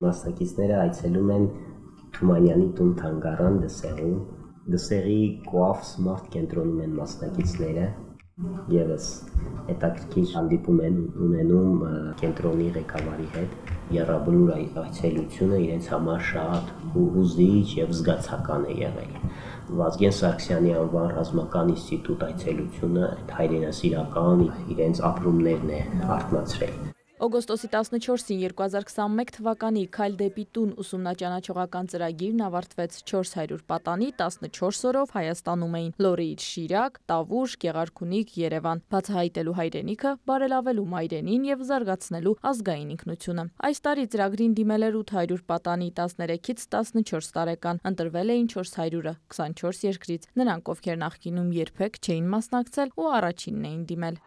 Մասնակիցները այցելում են Թումանյանի տուն թանգարան Դսեղում։ Դսեղի Coaf Smart կենտրոնում են մասնակիցները եւս հետաքրքիր հանդիպում են ունենում կենտրոնի ղեկավարի հետ։ Եռաբլուր այցելությունը իրենց համար շատ հուզիչ եւ զգացական է եղել։ Վազգեն Սարգսյանի անվան ռազմական ինստիտուտ այցելությունը հայրենասիրական իրենց ապրումներն է արթնացրել։ Օգոստոսի 14-ին 2021 թվականի «Քայլ դեպի տուն» ուսումնաճանաչողական ծրագիրն ավարտվեց 400 պատանի 14 օրով Հայաստանում էին Լոռիից Շիրակ, Տավուշ, Գեղարքունիք, Երևան, բացահայտելու հայրենիքը, բարելավելու մայրենին եւ զարգացնելու ազգային ինքնությունը։ Այս տարի ծրագրին դիմել էր 800 պատանի 13-ից 14 տարեկան, ընտրվել էին 400-ը 24 երկրից։ Նրանք, ովքեր նախկինում երբեք չէին մասնակցել ու առաջինն էին դիմել։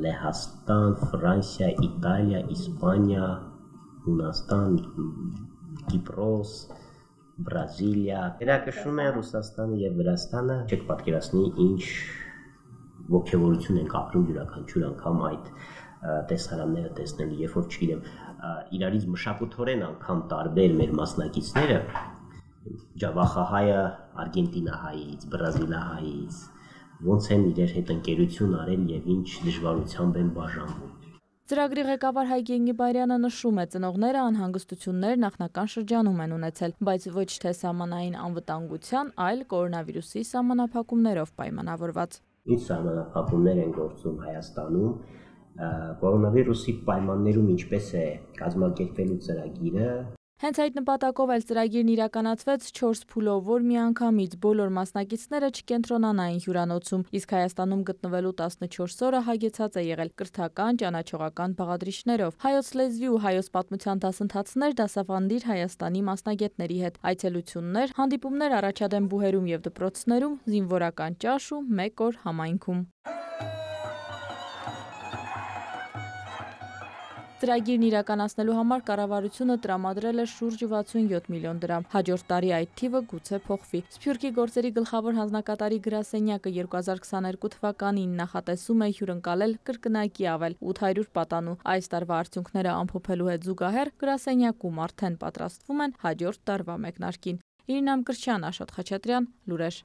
Լեհաստան, Ֆրանսիա, Իտալիա, Իսպանիա, Հունաստան, Կիպրոս, Բրազիլիա, ներկայացնում են Ռուսաստանը եւ Վրաստանը, չեք պատկերացնի ինչ ողջավորություն ենք ապրում յուրաքանչյուր անգամ այդ տեսարանները տեսնելու, երբ որ չգիտեմ, իրարից մշակութորեն անգամ տարբեր մեր մասնակիցները, Ջավախահայը Արգենտինահայից, Բրազիլահայից, ոնց են իրար հետ ընկերություն արել եւ ինչ դժվարությամբ են բաժանվում։ Ծրագրի ղեկավար Հայկ Եղիբարյանը նշում է, ծնողները անհանգստություններ նախնական շրջանում են ունեցել, բայց ոչ թե սահմանային անվտանգության, այլ կորոնավիրուսի սահմանափակումներով պայմանավորված։ Ինչ սահմանափակումներ են գործում Հայաստանում, կորոնավիրուսի պայմաններում ինչպես է կազմակերպվելու ծրագիրը։ Հենց այդ նպատակով էլ ծրագիրն իրականացվեց 4 փուլով, որ միանգամից բոլոր մասնակիցները չկենտրոնանային հյուրանոցում, իսկ Հայաստանում գտնվելու 14 օրը հագեցած է եղել կրթական, ճանաչողական բաղադրիչներով, հայոց լեզվի ու հայոց պատմության դասընթացներ դասավանդիր Հայաստանի մասնագետների հետ, այցելություններ, հանդիպումներ առաջադեմ բուհերում եւ դպրոցներում, զինվորական ճաշ ու 1 օր համայնքում։ Ծրագիրն իրականացնելու համար կառավարությունը տրամադրել է շուրջ 67 միլիոն դրամ։ Հաջորդ տարի այդ թիվը գուցե փոխվի։ Սփյուռքի գործերի գլխավոր հանձնակատարի գրասենյակը 2022 թվականին նախատեսում է հյուրընկալել կրկնակի ավել 800 պատանու։ Այս տարվա արդյունքները ամփոփելու հետ զուգահեռ գրասենյակում արդեն պատրաստվում են հաջորդ տարվա մեկնարկին։ Իրինա Մկրտչյան, Աշոտ Խաչատրյան, Լուրեր։